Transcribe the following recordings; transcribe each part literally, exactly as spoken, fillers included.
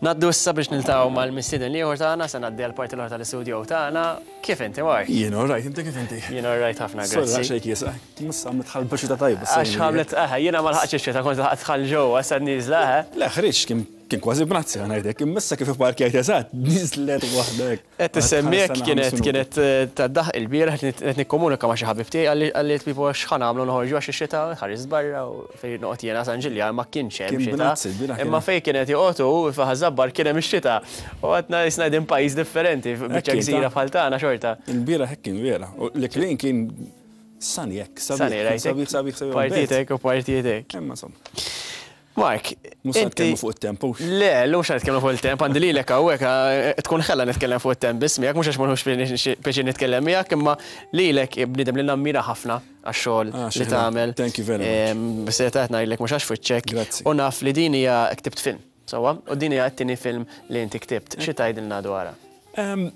Ngħaddu issa biex niltaqgħu mal-mistieden l-ieħor tagħna, se ngħaddi għall-parti l-oħra tal-istudio tagħna. Kif inti, Mark? Jien all right, inti kif inti? Jien all right ħafna, Sorry, grazzi. xejn kiesa. Mussa għamlet ħalba xita tajba. Għax ħamlet, eħe, jiena ma lħaqtx ix-xita, kont lħaqt dħal ġewwa, sa nieżla, eħe. Le, ħriġ, kien kien kważi bnazzi ngħidlek, imma issa kif ipparkjajt eżatt, niżlet waħdek. Qed tissemmiek kienet kienet eh, tad-daħ il-bieraħ qed nikkomunika ma' xi ħabib tiegħi qalli qalli tipo x'ħa nagħmlu noħorġu għax ix-xita ħares barra u fejn noqgħod jiena San Ġiljan ma kienx hemm Kien xita. bnazzi, il-bieraħ kien Imma hemm. fejn kienet joqogħdu f'Ħaż-Żabbar kien hemm ix-xita. U għadna jisna qegħdin pajjiż differenti, biċċa kien, gżira ta' bħal tagħna xorta. Il-bieraħ hekk kien vera. U l-klin kien sunny hekk, Sunny, sabiħ, rajtek? sabiħ, sabiħ, sabiħ. Partitek u partitek. Imma insomma, Mark, mhux se inti nitkellmu fuq it-temp, hux. Le, l-lum xa nitkellmu fuq il-temp, għandi lilek hawnhekk eh, tkun ħella nitkellem fuq it-temp biss miegħek, mhux għax ma nħux pjaċir nitkellem miegħek, imma lilek bniedem li nammira ħafna għax-xogħol Ah, li xi tagħmel. Thank you very much. B'serjetà ngħidlek mhux għax fuq Grazzi. U naf li din hija ktibt film, sewwa, u din hija t-tieni film li inti ktibt. Xi tgħidilna dwarha? Em,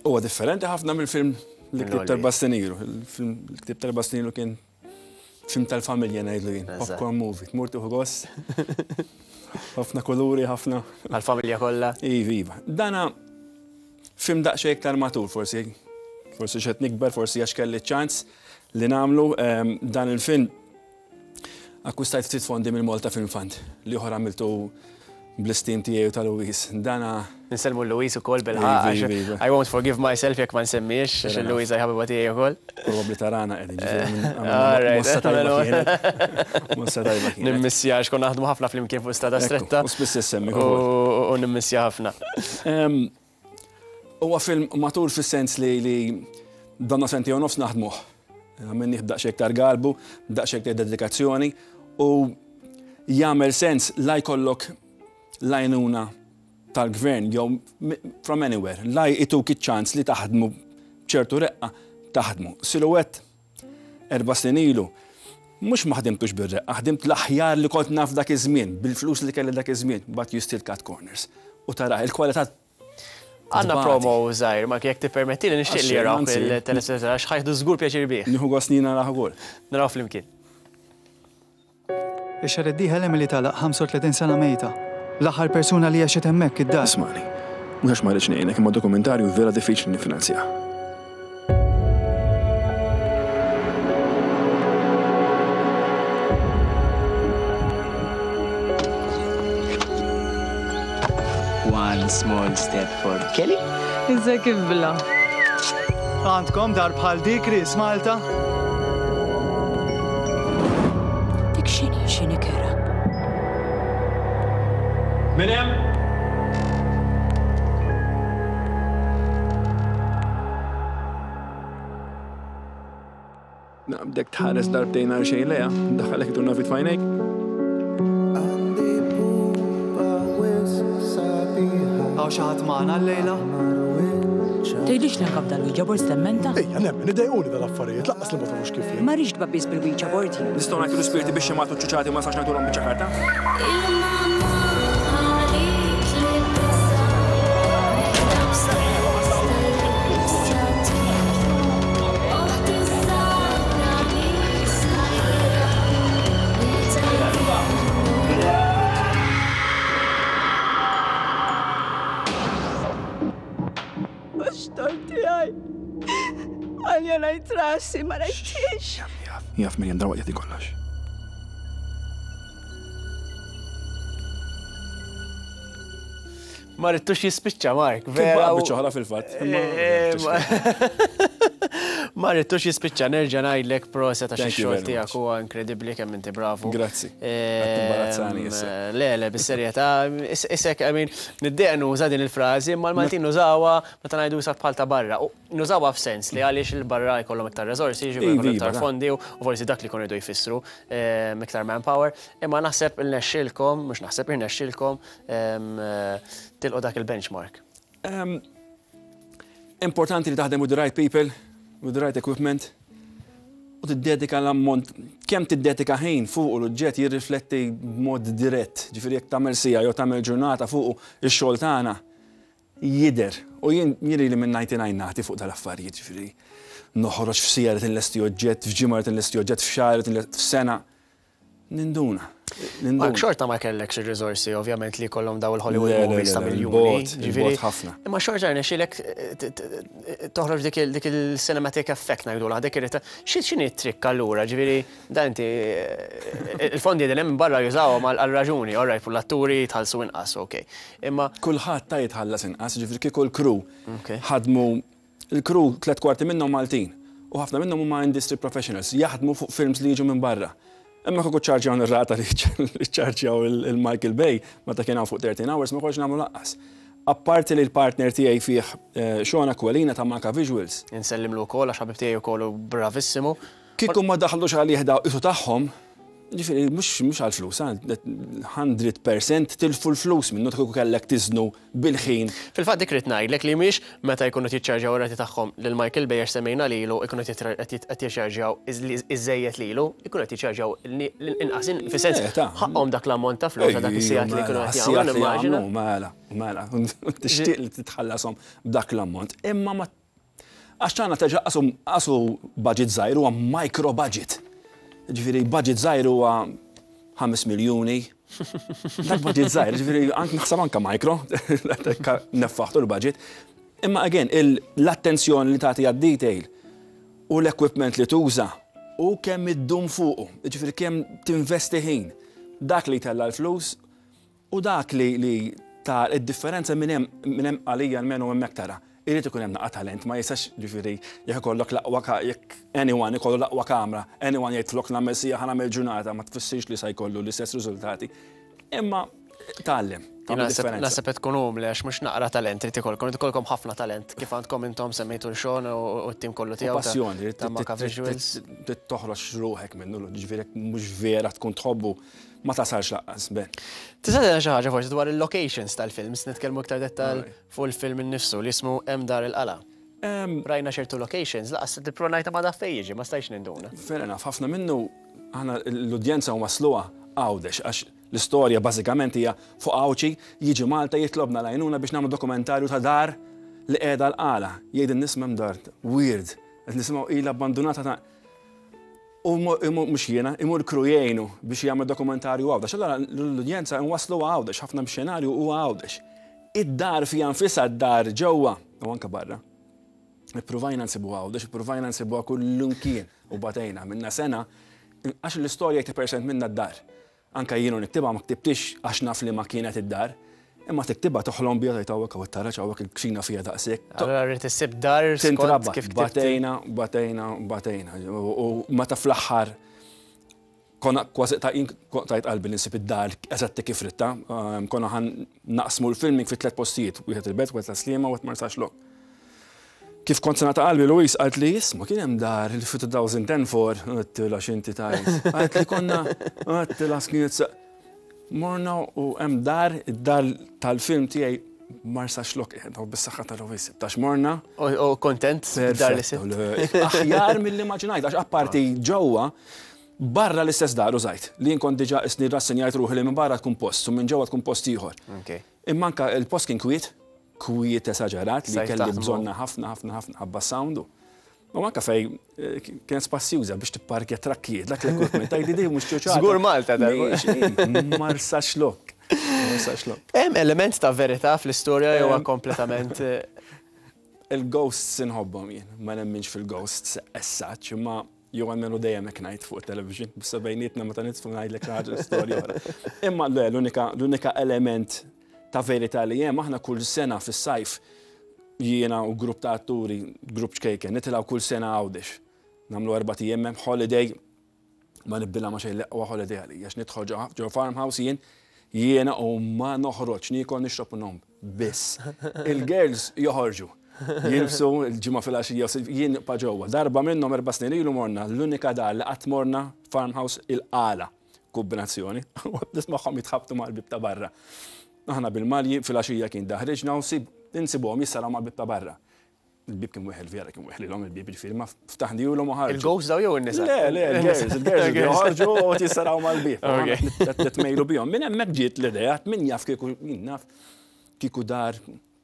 Huwa differenti ħafna mill-film li ktibt Mill-Olli. erba' snin ilu. Il-film li ktibt erba' snin ilu kien film tal-familja ngħidlu jien, Eżatt. popcorn movie, tmur tieħu gost. Ħafna kuluri, ħafna. Għal-familja kollha. Iva, iva. Dana film daqsxejn iktar matur forsi. Forsi xed nikber, forsi għax kelli ċans li nagħmlu em, dan il-film. Akkwistajt ftit fondi mill-Malta Film Fund li oħra għamiltu bl-istim tiegħi u ta' Louise. Dana Nsellmu Louise ukoll bil-ħaq. Iva, iva, iva. I won't forgive myself jekk ma nsemmiex, għax Fair enough. Louise ħabiba tiegħi ukoll. probabbli tarana qegħdin ġifieri All right. Mossa tajba kienet. Mossa tajba kienet. Nimmissja għax konna naħdmu ħafna flimkien fuq strada Ekku, stretta. U spiss issemmi U ukoll. u nimmissja ħafna. Em, Huwa film matur fis-sens li li donna sentejn u nofs naħdmuh. Għamilnieh b'daqsxejn iktar galbu, b'daqsxejn iktar dedikazzjoni u jagħmel sens la jkollok l-għajnuna tal-gvern jew mi- from anywhere, la jtuk iċ-ċans li taħdmu b'ċertu reqqa taħdmu. Silhouette erba' snin ilu, mhux ma ħdimtux bir-reqqa, ħdimt l-aħjar li kont naf dak iż-żmien, bil-flus li kelli dak iż-żmien, but you still cut corners. U tara, il-kwalità Għandna tbati. promo żgħir, ma jekk tippermetti li nixtieq li Għax, jaraw anzi. il-telespettaturi għax ħa jieħdu żgur pjaċir bih. Nieħu gost nina naraħ ukoll. Naraw flimkien. Ix-xahar id-dieħel Emily tagħlaq ħamsa u tletin sena mejta. L-aħħar persuna li għexet hemmhekk id-dar. Ismani, mhux għax ma rridx ngħinek, imma dokumentarju vera diffiċli nifinanzja. One small step for Kelly. Iżda kif bla. Għandkom dar bħal dik Chris Malta? Dik xini xini kera. Min hemm? Naqbdek tħares darbtejn għal xejn leja, daħalek turna fit fajnejk. Hawn xi ħadd magħna llejla? Tgħidlix li anka b'dal-Ouija board stemmenta? Ejja, nemmen, idejquni dal-affarijiet, lanqas li ma tafux kif jien. Ma rridx tbabbis bil-Ouija board jien. Nistgħu ngħidu l-ispirti biex jagħmlu ċuċati ma sax ngħidulhom biċċa karta. Mhux tiegħi. Għalja ngħid rasi ma rajtix. Jaf, jaf min jendra waqt kollox. Ma ridtux jispiċċa, Mark. Vera. Vera. u- Biċċa oħra fil-fatt. Eh, ma- Ma ridtux jispiċċa, nerġa' ngħidlek proset għax Thank you ix-xogħol very tiegħek much. huwa inkredibbli kemm inti bravu. Grazzi. Ehm, Qed timbarazzani issa. Le, le, bis-serjetà, is- isek, I mean, niddejjaq nuża din il-frażi, imma l-Maltin nużawha meta ngħidu sa bħal ta' barra. U nużawha f'sens li għaliex il-barra jkollhom iktar resorsi, jiġu Iva, jkollhom iktar iva, fondi u u forsi dak li jkunu jridu jfissru ehm, iktar manpower. Imma naħseb irnexxielkom, mhux naħseb irnexxielkom ehm, tilqu dak il-benchmark. Em, Importanti li taħdem with the right people, with the right equipment, u tiddedika l-ammont, kemm tiddedika ħin fuq l-oġġett jirrifletti b'mod dirett. Ġifieri jekk tagħmel siegħa jew tagħmel ġurnata fuq ix-xogħol tagħna jidher. U jien jien li minn disgħa u disgħin nagħti fuq tal-affarijiet, ġifieri noħroġ f'siegħa li tinlesti oġġett, f'ġimgħa li tinlesti oġġett, f'xahar li tinlesti f'sena. Ninduna. Mark, xorta ma kellekx ir-riżorsi ovvjament li kollhom daw il-Hollywood movies ta' miljuni. Ġifieri ħafna. Imma xorta rnexxielek toħroġ dik il-cinematic effect ngħidulha dik irid x'inhi t-trick allura, ġifieri dan inti il-fondi qegħdin hemm barra jużawhom għal raġuni, all right, l-atturi jitħallsu inqas, okej. Imma kulħadd ta' jitħallas inqas, ġifieri kieku l-crew ħadmu il-crew tliet kwarti minnhom Maltin u ħafna minnhom huma industry professionals jaħdmu fuq films li jiġu minn barra. Imma kieku ċarġjaw ir-rata li ċarġjaw il-Michael Bay meta kien hawn fuq thirteen hours ma konx nagħmlu lanqas. Apparti li l-partner tiegħi fih Sean Aquilina ta' Maka Visuals. Insellimlu wkoll għax ħabib tiegħi wkoll bravissimu. Kieku ma daħlux għalih daw isu tagħhom, ġifieri mhux mhux għall-flus, hundred percent tilfu l-flus minnu kieku kellek tiżnu bil-ħin. Fil-fatt dik rid ngħidlek li mhix meta jkunu jiċċarġjaw ir-rati tagħhom lil Michael Bay għax semmejna lilu ikunu qed jiċċarġjaw iżejjed lilu, ikunu qed jiċċarġjaw l-inqas fis-sens ħaqhom dak l-ammont ta' flus dak is-sigħat li jkunu qed jagħmlu nimmaġina. Mela, mela, tixtieq li titħallashom b'dak l-ammont. Imma ma għax tagħna terġa' qasu budget żgħir huwa micro budget. Ġifieri budget żgħir huwa ħames miljuni. Dak budget żgħir, ġifieri anke naħseb anke micro, neffaħtu l-budget. Imma again, l-attenzjoni li tagħti għad-detail u l-equipment li tuża u kemm iddum fuqu, ġifieri kemm tinvesti ħin. Dak li tella l-flus u dak li ta' id-differenza minn hemm għalija almenu hemmhekk tara. Irid ikun hemm naqa' talent, ma jistax ġifieri jekk ikollok l-aqwa jekk anyone ikollu l-aqwa kamra, anyone jgħidlok nagħmel sija ħa nagħmel ġurnata, ma tfissirx li se jkollu l-istess riżultati. Imma tgħallem, tagħmel differenza. Naħseb qed tkun umli għax mhux naqra talent irid ikolkom, irid ikolkom ħafna talent kif għandkom intom semmejtu l-Sean u t-tim kollu tiegħu. Passjoni, trid toħroġ ruħek minnu, ġifieri mhux vera tkun tħobbu ma tasalx laqqas, ben. Tista' tgħidilna xi ħaġa forsi dwar il-locations tal-films, nitkellmu iktar dettal fuq il-film innifsu li jismu Hemm Dar il-Qala. Rajna ċertu locations, laqas tippronajta ma daf fejn jiġi, ma stajx ninduna. Fair enough, ħafna minnu aħna l-udjenza wasluha Għawdex, għax l-istorja bażikament hija fuq Għawdxi jiġi Malta jitlobna l-għajnuna biex nagħmlu dokumentarju ta' dar li qiegħda l-Qala. Jgħid in-nies m'hemm dar, weird, qed nisimgħu ilha abbandunata ta' U mhux jiena, imur crew jgħinu biex jagħmel dokumentarju Għawdex. Allora l-udjenza nwaslu Għawdex, ħafna mix-xenarju huwa Għawdex. Id-dar fiha nfisha d-dar ġewwa u anke barra. Ippruvajna nsibu Għawdex, ippruvajna nsibuha kullimkien u batejna minna sena għax l-istorja eighty percent minna d-dar. Anka jienu niktibha ma ktibtix għax naf li ma kienet id-dar. Imma tiktibha toħlom biha tgħid hawnhekk hawn it-taraġ hawnhekk il-kxina fiha daqshekk. Allora rrid issib dar skont Tintrabba, kif ktibt. Batejna, batejna, batejna. U meta fl-aħħar konna kważi ta' tajt qalbi li nsib id-dar eżatti kif ritta, konna ħan naqsmu l-filming fi tliet postijiet, wieħed il-Belt, wieħed tas-Sliema, wieħed Marsaxlokk. Kif kont sena ta' qalbi Louise qalt li isma' kien hemm dar li fi two thousand and four, għedtilha x'inti tajt. Qalt li konna, għedtilha kienet sa Morna u hemm dar, id-dar tal-film tiegħi Marsaxlokk, u bis-saħħa ta' Louise, tax morna. U kontent dar li sibt? Aħjar mill-immaġinajt, għax apparti ġewwa, barra l-istess dar użajt, li jien kont diġà isni rassenjajt ruħi li minn barra tkun post u minn ġewwa tkun post ieħor. Imma anke il-post kien kwiet, kwiet esaġerat li Sajt kelli taħdmu. bżonna ħafna, ħafna, ħafna ħabba soundu. U anke fej kienet spazjuża biex tipparkja trakkijiet, dak l-equipment, tgħidli di mhux ċuċata. Żgur Malta dar. Marsaxlokk. Marsaxlokk. Hemm element ta' verità fl-istorja jew Em, kompletament Il-ghosts inħobbhom jien, ma nemminx fil-ghosts as such, imma jew għalmenu dejjem hekk ngħid fuq it-television, bissa bejnietna meta nitfu ngħidlek xi ħaġa l-istorja oħra. Imma le, l-unika, l-unika element ta' verità li hemm aħna kull sena fis-sajf jiena u grupp ta' atturi, grupp ċkejken, nitilgħu kull sena Għawdex. Nagħmlu erba' ijiem hemm holiday, ma nibdilha ma xejn l-aqwa holiday għalija, għax nidħol ġo, ġo farmhouse jien, jiena u ma noħroġ, niekol nixrob u nom, biss. Il-girls joħorġu. Jilbsu l-ġimgħa filgħaxija, jien nibqa' ġewwa. Darba minnhom erba' snin ilu morna, l-unika dar li qatt morna farmhouse il-Qala, kombinazzjoni, u nismagħhom jitħabtu mal-bib ta' barra. Aħna bil-malji filgħaxija kien daħriġna u sib insibuhom jissaraw mal-bib ta' barra. Il-bib kien weħel vera, kien weħlilhom il-bib ġifieri ma ftaħnihulhom u ħarġu. Il-ghosts daw jew in-nisa? Le, le, il-girls, il-girls joħorġu u jissaraw mal-bib. Ok. Titmejlu bihom. Minn hemmhekk ġiet l-idea, min jaf kieku, min naf kieku dar,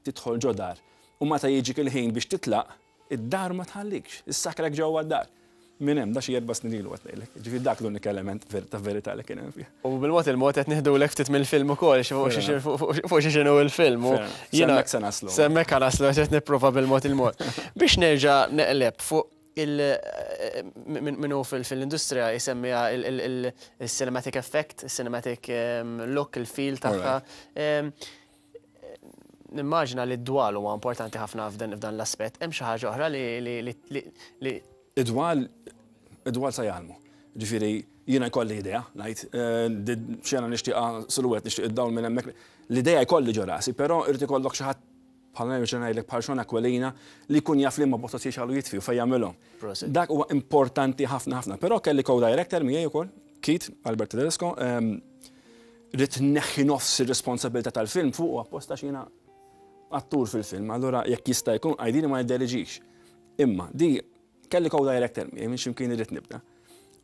tidħol ġo dar. U meta jiġik il-ħin biex titlaq, id-dar ma tħallikx, issakrek ġewwa d-dar. Minn hemm da xi erba' snin ilu qed ngħidlek. Ġifieri dak l-unika element ta' verità li kien hemm fih. U bil-mod il-mod qed nieħdulek ftit mill-film ukoll fuq xi x'inhu l-film. S'hemmhekk se naslu. S'hemmhekk naslu qed nipprova bil-mod il-mod. Biex nerġa' neqleb fuq il minnu fil-industrija jisemmiha il-cinematic effect, il-cinematic look, il-feel tagħha. Nimmaġina li d-dwal huwa importanti ħafna f'dan l-aspett. Hemm xi ħaġa oħra li Id-dwal, id-dwal sa jgħallmu. Ġifieri, jiena jkolli idea, ngħid, xena nixtieqa silhouette, nixtieq id-dawl minn hemmhekk. L-idea jkolli ġo rasi, però irid ikollok xi ħadd bħal nerġa' ngħidlek bħal Sean Aquilina li jkun jaf li ma botot jixgħalu jitfi u fejn jagħmilhom. Dak huwa importanti ħafna ħafna. Però kelli co-director miegħi ukoll, Keith Albert Tedesco, rrid neħħi nofs ir-responsabilità tal-film fuq apposta x'jiena attur fil-film, allura jekk jista' jkun għajdini ma jidderiġix. Imma di kelli co-director miegħi minn x'imkien irrid nibda.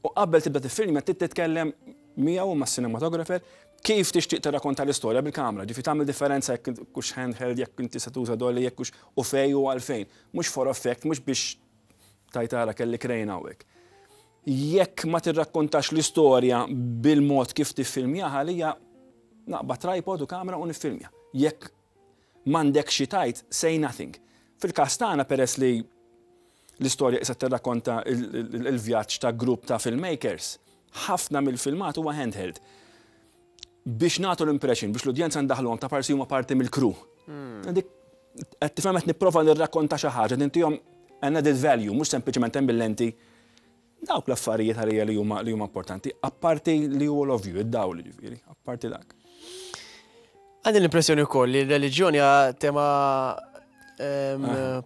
U qabel tibda tifilm trid titkellem miegħu ma' cinematographer kif tixtieq tirrakkonta l-istorja bil-kamra, ġifi tagħmel differenza jekk hux handheld, jekk inti se tuża dolly, jekk hux u fej u għalfejn. Mhux for effect, mhux biex tajtara kelli crane hawnhekk. Jekk ma tirrakkontax l-istorja bil-mod kif tiffilmjaha għalija naqbad tripod u kamra u niffilmja. Jekk m'għandek xi tajt, say nothing. Fil-każ tagħna peress li l-istorja issa tirrakkonta il-vjaġġ ta' grupp ta' filmmakers, ħafna mill-filmat huwa handheld. Biex nagħtu l-impression, biex l-udjenza ndaħluhom ta' parsi huma parti mill-crew. Dik qed tifhem qed nipprova nirrakkonta xi ħaġa, nintihom an added value, mhux sempliċement hemm bil-lenti. Dawk l-affarijiet għalija li huma li huma importanti, apparti li huwa l-ovvju, id-dawl ġifieri, apparti dak. Għandi l-impressjoni wkoll li l-reliġjoni hija tema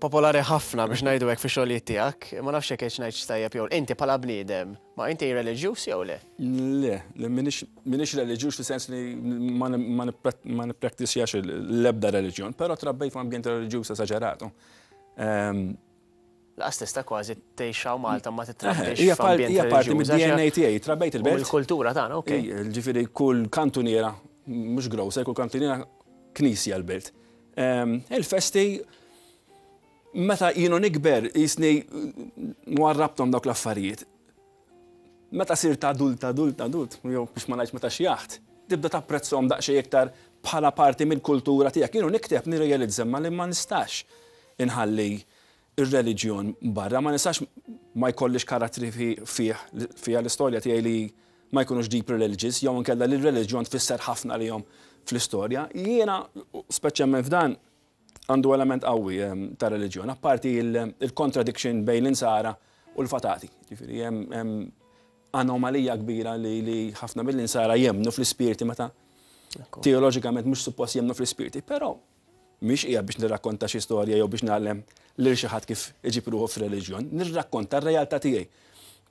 popolari ħafna biex ngħidu hekk fi xogħlijiet tiegħek. Ma nafx hekk qed ngħid tajjeb jew inti bħala bniedem, ma inti reliġjuż jew le? Le, le minix reliġjuż fis-sens li ma nippraktisjax l-ebda reliġjon, però trabbejt f'ambjent reliġjuż esaġeratu. Laqas tista' kważi tgħix hawn Malta ma titrabbix Hija parti mid-D N A tiegħi, trabbejt il-belt. Il-kultura tagħna, okej. Ġifieri kull kantuniera, mhux grocer, kull kantuniera knisja l-belt. Il-festi, meta jienu nikber, jisni warrabtom dawk l-affarijiet. Meta sirt adult, adult, adult, jew biex ma ngħidx meta xjaħt, tibda tapprezzhom daqsxejn iktar bħala parti mill-kultura tiegħek. Jienu nikteb nirrealizza ma li ma nistax inħalli ir-reliġjon barra, ma nistax ma jkollix karattri fih fiha l-istorja tiegħi li ma jkunux deep religious, jew inkella li l-reliġjon tfisser ħafna lihom fl-istorja. Jiena, speċjalment f'dan, għandu element qawwi ta' reliġjon, apparti il-contradiction bejn l-insara u l-fatati. Ġifieri hemm anomalija kbira li ħafna mill-insara jemnu fl-ispirti meta teoloġikament mhux suppost jemnu fl-ispirti, però mhix hija biex nirrakkonta xi storja jew biex nagħlem lil xi ħadd kif iġib ruħu f'reliġjon, nirrakkonta r-realtà tiegħi.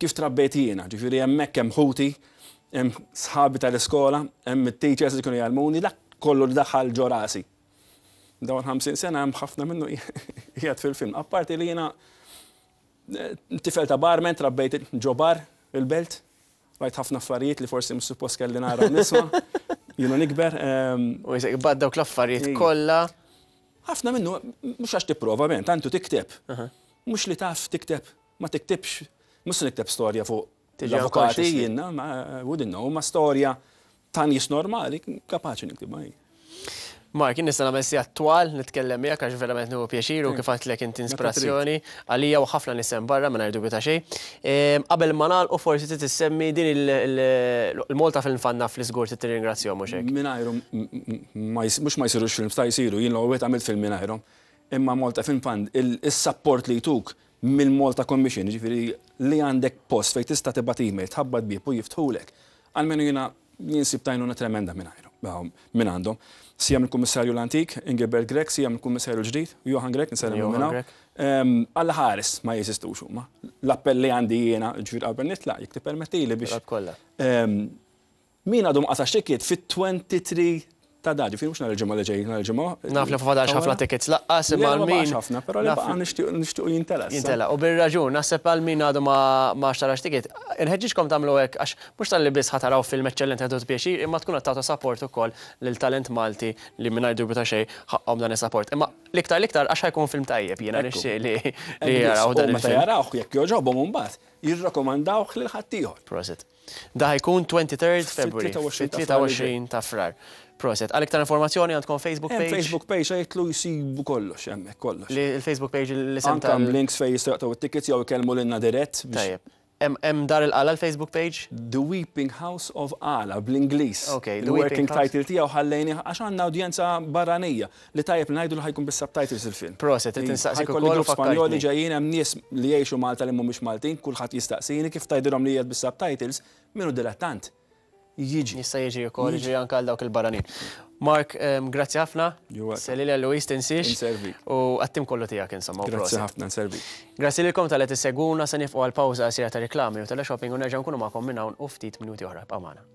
Kif trabbejt jiena, ġifieri hemmhekk hemm ħuti, hemm sħabi tal-iskola, hemm it-teachers li kienu jgħallmuni, dak kollu li daħal ġo rasi. Dawn ħamsin sena hemm ħafna minnu qiegħed fil-film. Apparti li jiena tifel ta' barman, trabbejt ġo bar il-belt, rajt ħafna affarijiet li forsi mhux suppost kelli nara nisma', jiena nikber. U jisek bad dawk l-affarijiet kollha. Ħafna minnu, mhux għax tipprova ben, tantu tikteb. Mhux li taf tikteb, ma tiktibx, mhux nikteb storja fuq l-avukati jiena, ma wouldn't know, ma storja ta' nies normali, kapaċi niktibha. Mark, jien nista' nagħmel sigħat twal nitkellem miegħek għax verament nieħu pjaċir u kif għedtlek inti inspirazzjoni għalija u ħafna nies hemm barra mingħajr dubju ta' xejn. Qabel ma nagħlqu forsi trid tissemmi din il-Malta Film Fund naf li żgur trid tirringrazzjahom mhux hekk. Mingħajrhom mhux ma jsirux films ta' jsiru, jien l-ewwel għamilt film mingħajrhom. Imma Malta Film Fund is-support li jtuk mill-Malta Commission, ġifieri li għandek post fejn tista' tibgħat email, tħabbat bieb u jiftħulek. Almenu jiena jinsib tajnuna tremenda mingħajrhom, minn għandhom. Sija mill-Kummissarju l-Antik, Ingelbert Grech, sija mill-Kummissarju l-ġdid, Johann Grech, nsellem Johann minn hawn. Grech. Alla ħares ma jeżistux huma. L-appell li għandi jiena, ġifieri qabel nitlaq, jekk tippermettili biex. Kollha. Min għadu ma qatax ticket fit-twenty-three Ta' da, ġifieri mhux nhar il-Ġimgħa li ġej, nhar il-Ġimgħa. Naf li fadax ħafna tickets laqqas, imma Le, ma għal min. baqax ħafna, però li baqa' nixtiequ nixtiequ jintela. issa. Jintela, u bir-raġun, naħseb għal min għadu ma ma xtarax ticket, inħeġġiġkom tagħmlu hekk għax mhux talli biss ħa taraw film eċċellenti ħadu pjaċir, imma tkun qed tagħtu support ukoll lil talent Malti li mingħajr dubju ta' xejn ħaqhom dan is-support. Imma l-iktar l-iktar għax ħa jkun film tajjeb, jiena Ekku. nixtieq li li Hekk biss. jaraw U dan meta il-film. jarawh jekk jogħġobhom imbagħad jirrakkomandawh lil ħaddieħor. Prosit. Da ħa jkun twenty-third February. Fit-tlieta u għoxrin ta' Fit-tlieta u għoxrin ta' Frar. Prosit. Għal iktar informazzjoni għandkom Facebook Hemm page. Facebook page jgħidlu jsibu kollox hemmhekk kollox. Li il-Facebook page li sem Anka tal. hemm links fejn jistgħu jaqtgħu it-tickets jew ikellmu lilna dirett biex Tajjeb. Hemm hemm Dar il-Qala l-Facebook page? The Weeping House of Qala bl-Ingliż. Ok, The Il-working Weeping House. title tiegħu ħallejni għax għandna udjenza barranija li tajjeb li ngħidu li ħa jkun bis-subtitles il-film. Prosit, qed insaqsik Ħa jkolli ukoll u grupp Spanjoli fakkartni. ġejjin, hemm nies li jgħixu Malta li mhumiex Maltin, kulħadd jistaqsini kif tgħidilhom li qiegħed bis-subtitles, minnu dilettant. Jiġi. Jista' jiġi wkoll, jiġi anke għal dawk il-barranin. Mark, em, grazzi ħafna. You're welcome. Selili Louis tinsiex. Inservik. U għat-tim kollu tiegħek insomma. U Grazzi prosit. ħafna, nservi. Grazzi lilkom talli qed issegwuna, se nieqfu għal pawża qasira ta' reklami u teleshopping u nerġa' nkunu magħkom minn hawn u ftit minuti oħra. Ibqgħu magħna.